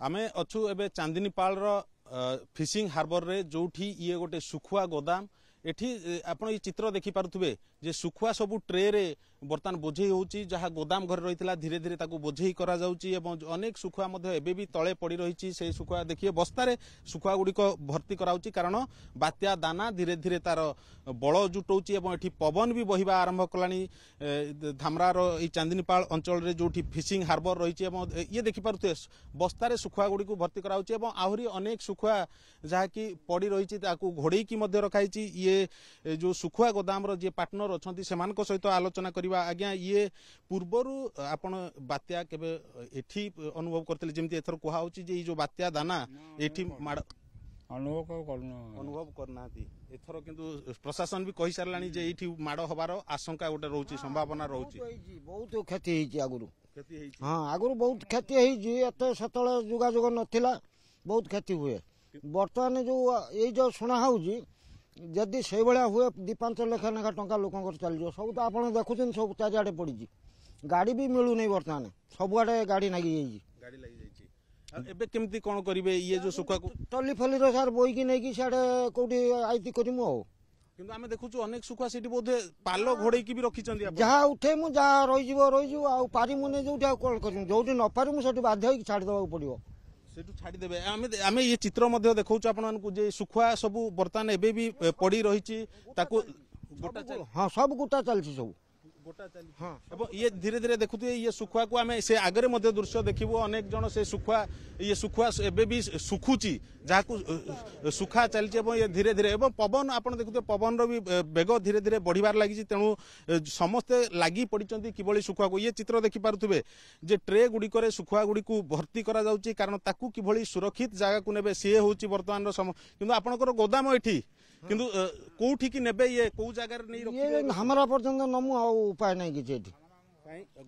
ଆମେ ଅଛୁ ଏବେ ଚାନ୍ଦିନୀପାଳର ଫିସିଂ ହାର୍ବରରେ, ଯୋଉଠି ଇଏ ଗୋଟେ ଶୁଖୁଆ ଗୋଦାମ। ଏଠି ଆପଣ ଏଇ ଚିତ୍ର ଦେଖିପାରୁଥିବେ ଯେ ଶୁଖୁଆ ସବୁ ଟ୍ରେରେ ବର୍ତ୍ତମାନ ବୋଝେଇ ହେଉଛି। ଯାହା ଗୋଦାମ ଘରେ ରହିଥିଲା, ଧୀରେ ଧୀରେ ତାକୁ ବୋଝେଇ କରାଯାଉଛି ଏବଂ ଅନେକ ଶୁଖୁଆ ମଧ୍ୟ ଏବେ ବି ତଳେ ପଡ଼ି ରହିଛି। ସେଇ ଶୁଖୁଆ ଦେଖିବେ, ବସ୍ତାରେ ଶୁଖୁଆ ଗୁଡ଼ିକ ଭର୍ତ୍ତି କରାଯାଉଛି, କାରଣ ବାତ୍ୟା ଦାନା ଧୀରେ ଧୀରେ ତାର ବଳ ଜୁଟଉଛି ଏବଂ ଏଠି ପବନ ବି ବହିବା ଆରମ୍ଭ କଲାଣି ଧାମରାର ଏଇ ଚାନ୍ଦିନୀପାଳ ଅଞ୍ଚଳରେ, ଯୋଉଠି ଫିସିଂ ହାର୍ବର ରହିଛି। ଏବଂ ଇଏ ଦେଖିପାରୁଥିବେ, ବସ୍ତାରେ ଶୁଖୁଆ ଗୁଡ଼ିକୁ ଭର୍ତ୍ତି କରାଯାଉଛି ଏବଂ ଆହୁରି ଅନେକ ଶୁଖୁଆ ଯାହାକି ପଡ଼ି ରହିଛି, ତାକୁ ଘୋଡ଼େଇକି ମଧ୍ୟ ରଖାଯାଇଛି। ଇଏ ଯୋଉ ଶୁଖୁଆ ଗୋଦାମର ଯିଏ ପାର୍ଟନର ଅଛନ୍ତି, ସେମାନଙ୍କ ସହିତ ଆଲୋଚନା କରିବା। ଆଜ୍ଞା, ଇଏ ପୂର୍ବରୁ ଆପଣ ବାତ୍ୟା କେବେ ଏଠି ଅନୁଭବ କରିଥିଲେ, ଯେମିତି ଏଥର କୁହାହଉଛି ଯେ ଏଇ ଯୋଉ ବାତ୍ୟା ଦାନା ଏଠି ମାଡ଼? ଅନୁଭବ କରୁନୁ। ଅନୁଭବ କରିନାହାନ୍ତି ଏଥର, କିନ୍ତୁ ପ୍ରଶାସନ ବି କହିସାରିଲାଣି ଯେ ଏଇଠି ମାଡ଼ ହବାର ଆଶଙ୍କା ଗୋଟେ ରହୁଛି, ସମ୍ଭାବନା ରହୁଛି। ବହୁତ କ୍ଷତି ହେଇଛି ଆଗରୁ। କ୍ଷତି ହେଇଛି? ହଁ, ଆଗରୁ ବହୁତ କ୍ଷତି ହେଇଛି। ଏତେ ସେତେବେଳେ ଯୋଗାଯୋଗ ନଥିଲା, ବହୁତ କ୍ଷତି ହୁଏ। ବର୍ତ୍ତମାନ ଯୋଉ ଏଇ ଯୋଉ ଶୁଣା ହଉଛି, ଯଦି ସେଇଭଳିଆ ହୁଏ, 2-5 ଲକ୍ଷ ଲେଖା ଟଙ୍କା ଲୋକଙ୍କର ଚାଲିଯିବ। ସବୁ ତ ଆପଣ ଦେଖୁଛନ୍ତି, ସବୁ ଚାରିଆଡ଼େ ପଡ଼ିଛି। ଗାଡ଼ି ବି ମିଳୁନି ବର୍ତ୍ତମାନ, ସବୁଆଡ଼େ ଗାଡ଼ି ଲାଗିଯାଇଛି। ଗାଡ଼ି ଲାଗିଯାଇଛି। ଆଉ ଏବେ କେମିତି କଣ କରିବେ ଇଏ ଯୋଉ ଶୁଖୁଆକୁ? ଟଲି ଫଲିର ସାର୍ ବୋହିକି ନେଇକି ସିଆଡ଼େ କୋଉଠି ଆଇତି କରିମୁ ଆଉ। କିନ୍ତୁ ଆମେ ଦେଖୁଛୁ ଅନେକ ଶୁଖୁଆ ସେଠି ବୋଧେ ପାଲ ଘୋଡେଇକି ବି ରଖିଛନ୍ତି ଆପଣ। ଯାହା ଉଠେଇମୁ, ଯାହା ରହିଯିବ ରହିଯିବ, ଆଉ ପାରିମୁନି ଯୋଉଠି, ଆଉ କଣ କରିମୁ? ଯୋଉଠି ନ ପାରିମୁ, ସେଠି ବାଧ୍ୟ ହେଇକି ଛାଡ଼ିଦେବାକୁ ପଡ଼ିବ। ସେଠୁ ଛାଡ଼ିଦେବେ। ଆମେ ଇଏ ଚିତ୍ର ମଧ୍ୟ ଦେଖାଉଛୁ ଆପଣମାନଙ୍କୁ ଯେ ଶୁଖୁଆ ସବୁ ବର୍ତ୍ତମାନ ଏବେ ବି ପଡି ରହିଛି, ତାକୁ ଗୋଟା। ହଁ, ସବୁ ଗୋଟା ଚାଲିଛି, ସବୁ ଗୋଟା ଚାଲିଛି। ହଁ, ଏବଂ ଇଏ ଧୀରେ ଧୀରେ ଦେଖୁଥିବେ ଇଏ ଶୁଖୁଆକୁ, ଆମେ ସେ ଆଗରେ ମଧ୍ୟ ଦୃଶ୍ୟ ଦେଖିବୁ। ଅନେକ ଜଣ ସେ ଶୁଖୁଆ, ଇଏ ଶୁଖୁଆ ଏବେ ବି ଶୁଖୁଛି, ଯାହାକୁ ଶୁଖା ଚାଲିଛି। ଏବଂ ଇଏ ଧୀରେ ଧୀରେ ଏବଂ ପବନ ଆପଣ ଦେଖୁଥିବେ, ପବନର ବି ବେଗ ଧୀରେ ଧୀରେ ବଢିବାରେ ଲାଗିଛି। ତେଣୁ ସମସ୍ତେ ଲାଗି ପଡ଼ିଛନ୍ତି କିଭଳି ଶୁଖୁଆକୁ। ଇଏ ଚିତ୍ର ଦେଖିପାରୁଥିବେ ଯେ ଟ୍ରେ ଗୁଡ଼ିକରେ ଶୁଖୁଆ ଗୁଡ଼ିକୁ ଭର୍ତ୍ତି କରାଯାଉଛି, କାରଣ ତାକୁ କିଭଳି ସୁରକ୍ଷିତ ଜାଗାକୁ ନେବେ ସିଏ ହେଉଛି ବର୍ତ୍ତମାନର ସମ। କିନ୍ତୁ ଆପଣଙ୍କର ଗୋଦାମ ଏଠି, କିନ୍ତୁ କୋଉଠିକି ନେବେ ଇଏ, କୋଉ ଜାଗାରେ ନେଇ ଇଏ ରଖିବେ? ଧାମରା ପର୍ଯ୍ୟନ୍ତ ନମୁ, ଆଉ ଉପାୟ ନାହିଁ କିଛି ଏଠି।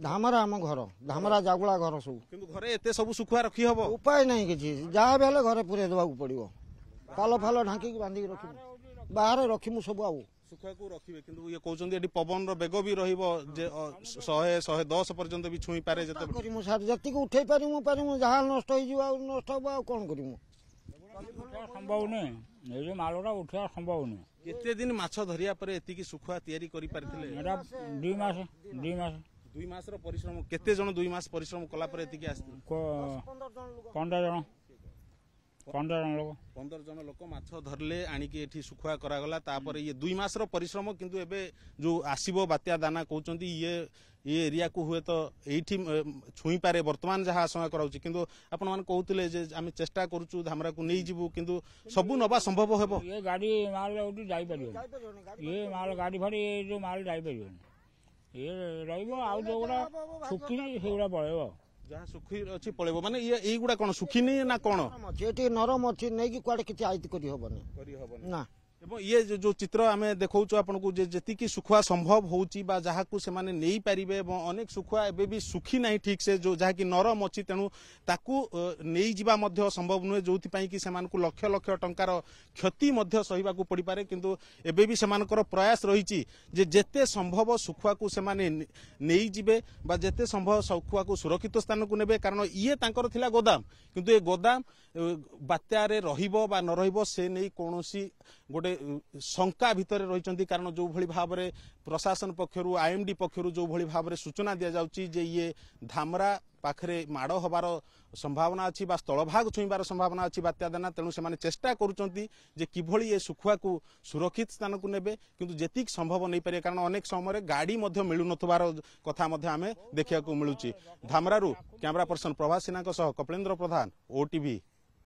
ଧାମରା ଆମ ଘର, ଧାମରା ଜାଗୁଳା ଘର ସବୁ। କିନ୍ତୁ ଘରେ ଏତେ ସବୁ ଶୁଖୁଆ ରଖି ହବ? ଉପାୟ ନାହିଁ କିଛି, ଯାହା ବି ହେଲେ ଘରେ ପୁରେଇ ଦେବାକୁ ପଡ଼ିବ। ପାଲ ଫାଲ ଢାଙ୍କିକି ବାନ୍ଧିକି ରଖିବୁ, ବାହାରେ ରଖିମୁ ସବୁ ଆଉ। ଶୁଖୁଆକୁ ରଖିବେ, କିନ୍ତୁ ଇଏ କହୁଛନ୍ତି ଏଠି ପବନର ବେଗ ବି ରହିବ ଯେ 100, 110 ପର୍ଯ୍ୟନ୍ତ ବି ଛୁଇଁ ପାରେ ଯେତେବେଳେ। କରିମୁ ସାର୍, ଯେତିକି ଉଠେଇ ପାରିମୁ ପାରିମୁ, ଯାହା ନଷ୍ଟ ହେଇଯିବ ଆଉ ନଷ୍ଟ ହବ, ଆଉ କଣ କରିମୁ? ଉଠେଇବା ସମ୍ଭବ ନୁହେଁ, ଏଇ ଯୋଉ ମାଲଟା ଉଠେଇବା ସମ୍ଭବ ନୁହେଁ। କେତେ ଦିନ ମାଛ ଧରିବା ପରେ ଏତିକି ଶୁଖୁଆ ତିଆରି କରିପାରିଥିଲେ? ଏଇଟା 2 ମାସ, 2 ମାସ। 2 ମାସର ପରିଶ୍ରମ। କେତେ ଜଣ 2 ମାସ ପରିଶ୍ରମ କଲା ପରେ ଏତିକି ଆସିଥିଲେ? 15 ଜଣ, 15 ଜଣ ଲୋକ। 15 ଜଣ ଲୋକ ମାଛ ଧରିଲେ, ଆଣିକି ଏଠି ଶୁଖୁଆ କରାଗଲା, ତାପରେ ଇଏ 2 ମାସର ପରିଶ୍ରମ। କିନ୍ତୁ ଏବେ ଯୋଉ ଆସିବ ବାତ୍ୟା ଦାନା, କହୁଛନ୍ତି ଇଏ ଇଏ ଏରିଆକୁ ହୁଏତ ଏଇଠି ଛୁଇଁପାରେ, ବର୍ତ୍ତମାନ ଯାହା ଆଶଙ୍କା କରାଉଛି। କିନ୍ତୁ ଆପଣମାନେ କହୁଥିଲେ ଯେ ଆମେ ଚେଷ୍ଟା କରୁଛୁ ଧାମରାକୁ ନେଇଯିବୁ, କିନ୍ତୁ ସବୁ ନବା ସମ୍ଭବ ହେବ? ଇଏ ଗାଡ଼ି ମାଲ ଏଇଠି ଯାଇପାରିବନି, ଇଏ ମାଲ ଗାଡ଼ି ଫାଡ଼ି, ଏ ଯୋଉ ମାଲ ଯାଇପାରିବନି, ଇଏ ରହିବ। ଆଉ ଯୋଉଗୁଡ଼ା ଶୁଖିନି ସେଗୁଡ଼ା ପଳେଇବ। ଯାହା ଶୁଖି ଅଛି ପଳେଇବ। ମାନେ ଇଏ ଏଇଗୁଡ଼ା କଣ ଶୁଖିନି ନା କଣ? ଅଛି, ଏଠି ନରମ ଅଛି, ନେଇକି କୁଆଡ଼େ କିଛି ଆଇତି କରିହବନି। କରିହବନି ନା। ଏବଂ ଇଏ ଯୋଉ ଚିତ୍ର ଆମେ ଦେଖାଉଛୁ ଆପଣଙ୍କୁ ଯେ ଯେତିକି ଶୁଖୁଆ ସମ୍ଭବ ହେଉଛି ବା ଯାହାକୁ ସେମାନେ ନେଇପାରିବେ, ଏବଂ ଅନେକ ଶୁଖୁଆ ଏବେ ବି ଶୁଖି ନାହିଁ ଠିକ ସେ, ଯୋଉ ଯାହାକି ନରମ ଅଛି, ତେଣୁ ତାକୁ ନେଇଯିବା ମଧ୍ୟ ସମ୍ଭବ ନୁହେଁ, ଯୋଉଥିପାଇଁ କି ସେମାନଙ୍କୁ ଲକ୍ଷ ଲକ୍ଷ ଟଙ୍କାର କ୍ଷତି ମଧ୍ୟ ସହିବାକୁ ପଡ଼ିପାରେ। କିନ୍ତୁ ଏବେ ବି ସେମାନଙ୍କର ପ୍ରୟାସ ରହିଛି ଯେ ଯେତେ ସମ୍ଭବ ଶୁଖୁଆକୁ ସେମାନେ ନେଇଯିବେ ବା ଯେତେ ସମ୍ଭବ ଶୁଖୁଆକୁ ସୁରକ୍ଷିତ ସ୍ଥାନକୁ ନେବେ, କାରଣ ଇଏ ତାଙ୍କର ଥିଲା ଗୋଦାମ। କିନ୍ତୁ ଏ ଗୋଦାମ ବାତ୍ୟାରେ ରହିବ ବା ନ ରହିବ, ସେ ନେଇ କୌଣସି ଗୋଟେ ଶଙ୍କା ଭିତରେ ରହିଛନ୍ତି। କାରଣ ଯେଉଁଭଳି ଭାବରେ ପ୍ରଶାସନ ପକ୍ଷରୁ, ଆଇଏମଡି ପକ୍ଷରୁ ଯେଉଁଭଳି ଭାବରେ ସୂଚନା ଦିଆଯାଉଛି ଯେ ଇଏ ଧାମରା ପାଖରେ ମାଡ଼ ହେବାର ସମ୍ଭାବନା ଅଛି ବା ସ୍ଥଳଭାଗ ଛୁଇଁବାର ସମ୍ଭାବନା ଅଛି ବାତ୍ୟା ଦାନା, ତେଣୁ ସେମାନେ ଚେଷ୍ଟା କରୁଛନ୍ତି ଯେ କିଭଳି ଏ ଶୁଖୁଆକୁ ସୁରକ୍ଷିତ ସ୍ଥାନକୁ ନେବେ, କିନ୍ତୁ ଯେତିକି ସମ୍ଭବ ନେଇପାରିବେ, କାରଣ ଅନେକ ସମୟରେ ଗାଡ଼ି ମଧ୍ୟ ମିଳୁନଥିବାର କଥା ମଧ୍ୟ ଆମେ ଦେଖିବାକୁ ମିଳୁଛି। ଧାମରାରୁ କ୍ୟାମେରା ପର୍ସନ ପ୍ରଭାସ ସିହ୍ନାଙ୍କ ସହ କପିଳେନ୍ଦ୍ର ପ୍ରଧାନ, ଓଟିଭି।